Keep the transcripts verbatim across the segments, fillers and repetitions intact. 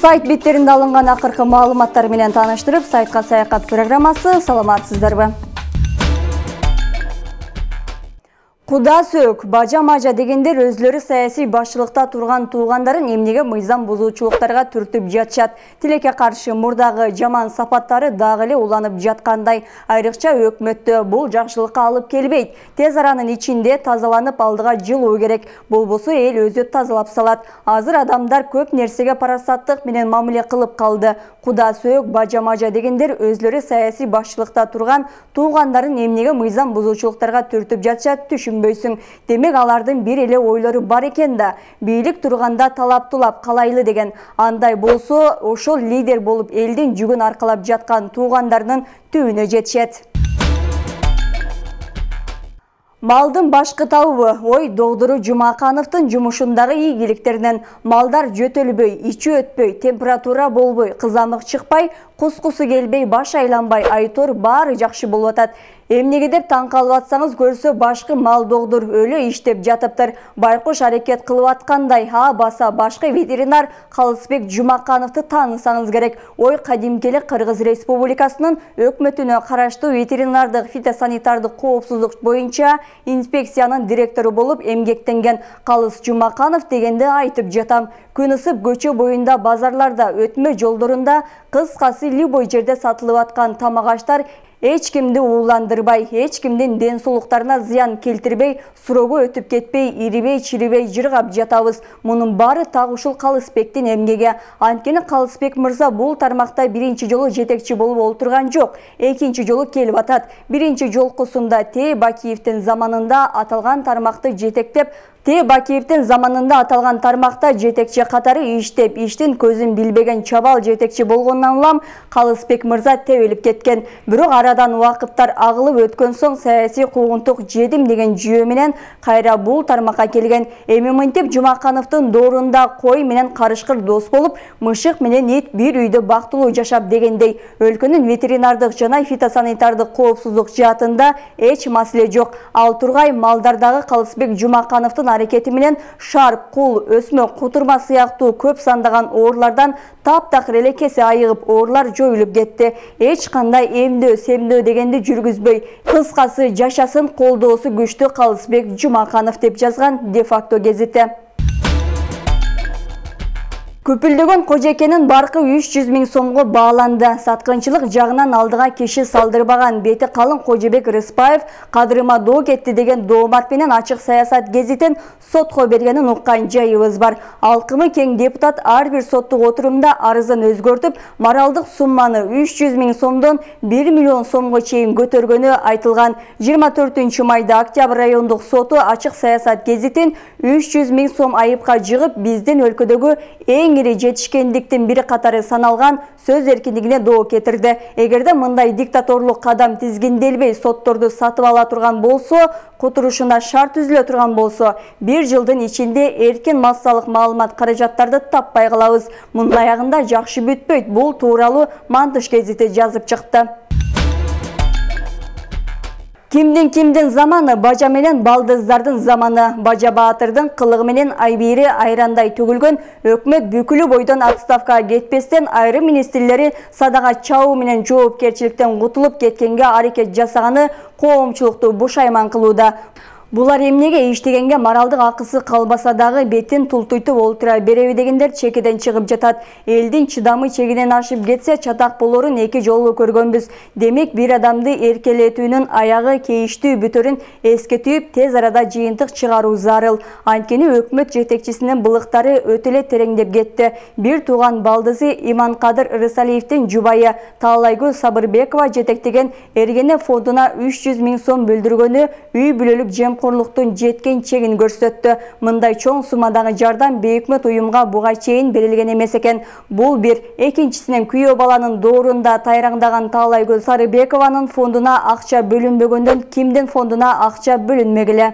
Сайт беттеринде алынган акыркы маалыматтар менен тааныштырып, сайтка саякат программасы. Саламатсыздарбы? Куда сөк, бажа-мажа дегендер өзлөрү саясий башчылыкта турган туугандарын эмнеге мыйзам бузуучулуктарга түртүп жатышат. Тилекке каршы мурдагы жаман сапаттары дагы эле уланып жаткандай. Айрыкча өкмөттө бул жакшылыкка алып келбейт. Тез аранын ичинде тазаланып алдыга жылуу керек. Болбосо эл өзү тазалап салат. Азыр адамдар көп нерсеге парасаттык менен мамиле кылып калды. Куда сөк, бажа-мажа дегендер өзлөрү саясий башчылыкта турган туугандарын эмнеге мыйзам бузуучулуктарга түртүп жатышат түшүнбөйсүң. Демек алардын бир эле ойлору бар экен да. Бийлик турганда талаптуулап калайлы деген. Андай болсо, ошол лидер болуп элдин жүгүн аркалап жаткан туугандарынын түбүнө жетишет. Малдын башкы табыбы ой доктуру Жумакановдун жумушундагы ийгиликтеринен малдар жөтөлбөй, ичи өтпөй, температура болбой, кызамык чыкпай, кускусу келбей, баш айланбай, айтор баары жакшы болуп атат. Эмнеге деп таң калып атсаңыз, көрсө башкы мал доктур өлө иштеп жатыптыр. Байкуш аракет кылып аткандай, а баса башкы ветеринар Калысбек Жумакановду таанысаңыз керек. Ой кадимки эле Кыргыз Республикасынын өкмөтүнө караштуу ветеринардык фитосанитардык коопсуздук боюнча инспекциянын директору болуп эмгектенген Калыс Жумаканов дегенди айтып жатам. Күн ысып көчө боюнда, базарларда, өтмө жолдорунда, кыскасы любой жерде сатылып аткан тамак аштар эч кимди ууландырбай, эч кимдин ден соолуктарына зыян келтирбей, суроого өтүп кетпей, ирибей, чирибей жыргап жатабыз. Мунун баары так ушул Калысбектин эмгеги. Анткени Калысбек мырза бул тармакта биринчи жолу жетекчи болуп олтурган жок, экинчи жолу келип атат. Биринчи жолкусунда Т. Бакиевдин заманында аталган тармакты жетектеп, Т. Бакиевдин заманында аталган тармакта жетекчи катары иштеп, иштин көзүн билбеген чабал жетекчи болгондон улам Калысбек мырза тебелип кеткен. Бирок арадан убакыттар агылып өткөн соң саясий куугунтук жедим деген жүйө менен кайра бул тармакка келген. Эми мынтип Жумакановдун доорунда кой менен карышкыр дос болуп, мышык менен ит бир үйдө бактылуу жашап дегендей. Өлкөнүн ветеринардык жана фитосанитардык коопсуздук жаатында эч маселе жок. Ал тургай малдардагы Калысбек Жумакановдун аракети менен шарп, кул, өсмө, кутурма сыяктуу көп сандаган оорулардан таптакыр эле кесе айыгып, оорулар жоюлуп кетти. Эч кандай эмдөө, семдөө дегенди жүргүзбөй, кыскасы жашасын колдоосу күчтүү Калысбек Жумаканов деп жазган де-факто гезити. Көпүлдөгөн кожекенин баркы үч жүз миң сомго бааланды. Саткынчылык жагынан алдыга киши салдырбаган бети калың Кожобек Рыспаев кадырыма доо кетти деген доомат менен Ачык саясат гезитин сотко бергенин уккан жайыбыз бар. Алкымы кең депутат ар бир соттук отурумда арызын өзгөртүп, моралдык сумманы үч жүз миң сомдон бир миллион сомго чейин көтөргөнү айтылган. жыйырма төртүнчү майда Октябрь райондук соту Ачык саясат гезитин үч жүз миң сом айыпка жыгып, биздин өлкөдөгү эң жетишкендиктин бири катары саналган сөз эркиндигине доо кетирди. Эгерде мындай диктаторлук кадам тизгинделбей сотторду сатып ала турган болсо, которушуна шарт түзүлө турган болсо, бир жылдын ичинде эркин массалык маалымат каражаттарды таппай калабыз. Мунун аягында жакшы бүтпөйт. Бул тууралуу Мантыш гезити жазып чыкты. Кимдин кимдин заманы, бажа менен балдыздардын заманы. Бажа Баатырдын кылыгы менен айбири айрандай төгүлгөн өкмөт бүкүлү бойдон отставкага кетпестен айрым министрлери садага чабуу менен жоопкерчиликтен кутулуп кеткенге аракет жасаганы коомчулукту бушайман кылууда. Булар эмнеге иштегенге моралдык акысы калбаса дагы бетин тултуйтуп олтура береби дегендер чекеден чыгып жатат. Элдин чыдамы чегинен ашып кетсе чатак болорун эки жолу көргөнбүз. Демек бир адамды эркелетүүнүн аягы кейиштүү бүтөрүн эске түйүп тез арада жыйынтык чыгаруу зарыл. Анткени өкмөт жетекчисинин былыктары өтө эле тереңдеп кетти. Бир тууган балдызы Иманкадыр Рысалиевдин жубайы Таалайгүл Сабырбекова жетектеген Эргене фондуна үч жүз миң сом бөлдүргөнү үй бүлөлүк жем корлуктун жеткен чегин көрсөттү. Мындай чоң суммадагы жардам бейөкмөт уюмга буга чейин берилген эмес экен. Бул бир. Экинчисинен күйөө баланын доорунда тайраңдаган Таалайгүл Сарыбекованын фондуна акча бөлүнбөгөндөн кимдин фондуна акча бөлүнмегиле?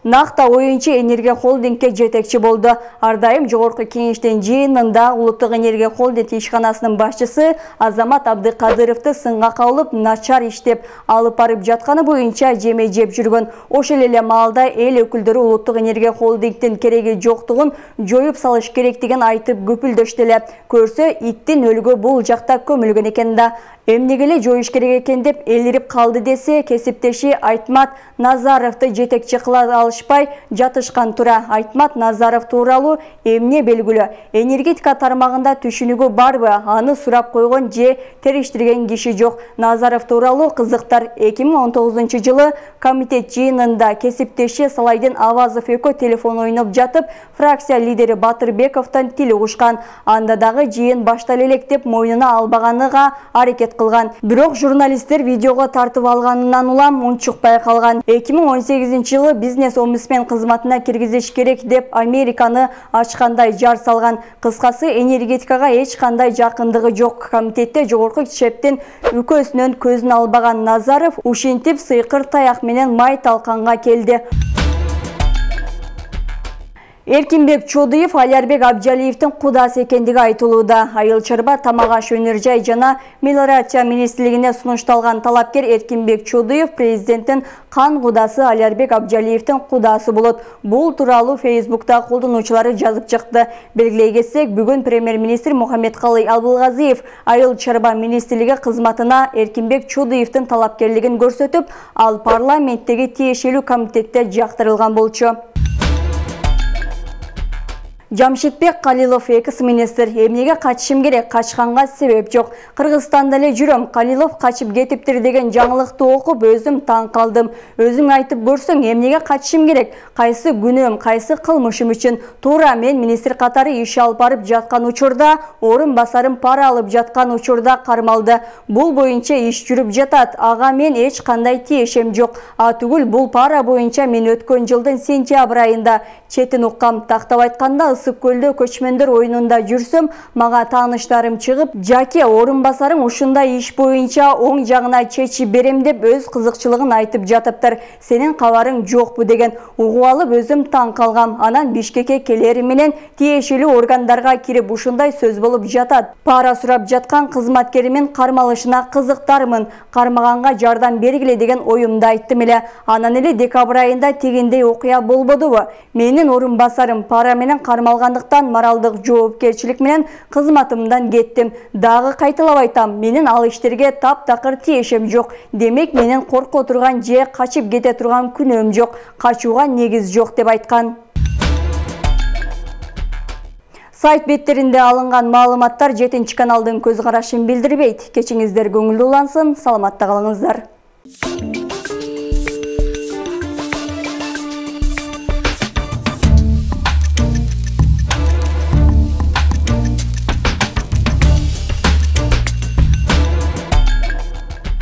Накта оюнчу энергия холдингке жетекчи болду. Ар дайым жогорку кеңештин жыйынында Улуттук энергия холдинг ишканасынын башчысы Азамат Абдыкадыровду сынга кабылып, начар иштеп алып барып жатканы боюнча жеме жеп жүргөн. Ошол эле маалда эл өкүлдөрү Улуттук энергия холдингдин кереги жоктугун жоюп салыш керектигин айтып көпүлдөштү эле. Көрсө, иттин өлүгү бул жакта көмүлгөн экен да. Эмнеге эле жоюш керек экен деп элирип калды десе, кесиптеши Айтмат Назаровду жетекчи кыла алышпай жатышкан тура. Айтмат Назаров тууралуу эмне белгилүү? Энергетика тармагында түшүнүгү барбы? Аны сурап койгон же териштирген киши жок. Назаров тууралуу кызыктар. эки миң он тогузунчу жылы комитет жыйынында кесиптеши Салайдин Авазов экөө телефон ойноп жатып, фракция лидери Батырбековдон тил угушкан. Анда дагы жыйын баштале элек деп мойнуна албаганга аракет кылган. Бирок журналисттер видеого тартып алганынан улам унчукпай калган. эки миң он сегизинчи жылы бизнес-омбудсмен кызматына киргизиш керек деп Американы ачкандай жар салган. Кыскасы, энергетикага эч кандай жакындыгы жок. Комитетте жогорку шептин үкөсүнөн көзүн албаган Назаров ушинтип сыйкыр таяк менен май талканга келди. Эркинбек Чодуев Алярбек Абджалиевдин кудасы экендиги айтылууда. Айыл чарба, тамак аш өнөр жай жана мелиорация министрлигине сунушталган талапкер Эркинбек Чодуев президенттин кан кудасы Алярбек Абджалиевдин кудасы болот. Бул тууралуу Фейсбукта колдонуучулары жазып чыкты. Белгилей кетсек, бүгүн премьер-министр Мухаммедкалый Абылгазиев айыл чарба министрлиги кызматына Эркинбек Чодуевдин талапкерлигин көрсөтүп, ал парламенттеги тиешелүү комитетте жактырылган болчу. Жамшитбек Калилов экс-министр. Эмнеге качышым керек? Качканга себеп жок. Кыргызстанда эле жүрөм. Калилов качып кетиптир деген жаңылыкты окуп өзүм таң калдым. Өзүң айтып көрсөң, эмнеге качышым керек? Кайсы күнөөм, кайсы кылмышым үчүн? Туура мен министр катары иш алып барып жаткан учурда, орун басарым пара алып жаткан учурда кармалды. Бул боюнча иш жүрүп жатат. Ага мен эч кандай тиешем жок. А түгүл, бул пара боюнча мен өткөн жылдын сентябрь айында четин уккам. Тактап айтканда, Ысык көлдө көчмөндөр оюнунда жүрсөм, мага тааныштарым чыгып, "Жаке, орун басарың ушундай иш боюнча оң жагына чечип берем" деп өз кызыкчылыгын айтып жатыптыр. "Сенин кабарың жокпу" деген. Угуп алып өзүм таң калгам. Анан Бишкекке келери менен тиешелүү органдарга кирип ушундай сөз болуп жатат. Пара сурап жаткан кызматкеримин кармалышына кызыктармын. Кармаганга жардам бергиле деген оюмду айттым эле. Анан эле декабрь айында тегиндей окуя болбодубу? Менин орун басарым пара менен кармалгандыктан моралдык жоопкерчилик менен кызматымдан кеттим. Дагы кайталап айтам, менин ал иштерге таптакыр тиешем жок. Демек менин корко турган же качып кете турган күнөөм жок. Качууга негиз жок деп айткан. Сайт беттеринде алынган маалыматтар жетинчи каналдын көз карашын билдирбейт. Кечиңиздер көңүлдүү улансын, саламатта калыңыздар.